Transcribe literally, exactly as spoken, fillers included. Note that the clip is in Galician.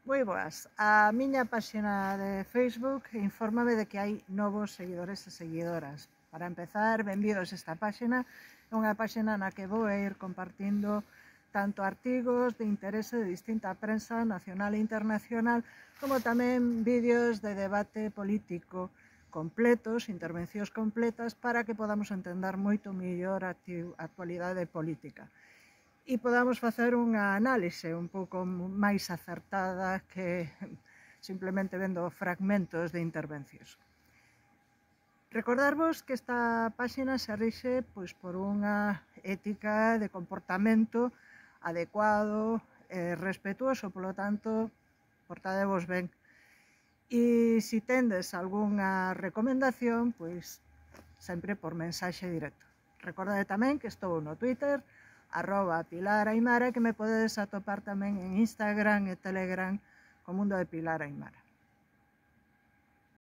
Moi boas. A miña páxina de Facebook infórmame de que hai novos seguidores e seguidoras. Para empezar, benvidos a esta páxina. É unha páxina na que vou ir compartindo tanto artigos de interese de distinta prensa nacional e internacional, como tamén vídeos de debate político completos, intervencións completas, para que podamos entender moito mellor a actualidade política e podamos facer unha análise un pouco máis acertada que simplemente vendo fragmentos de intervencións. Recordarvos que esta páxina se rixe pois, por unha ética de comportamento adecuado e respetuoso, polo tanto, portadevos ben. E se tendes algunha recomendación, pois sempre por mensaxe directo. Recordade tamén que estou no Twitter, arroba Pilar Aimara, que me podedes atopar tamén en Instagram e Telegram co mundo de Pilar Aimara.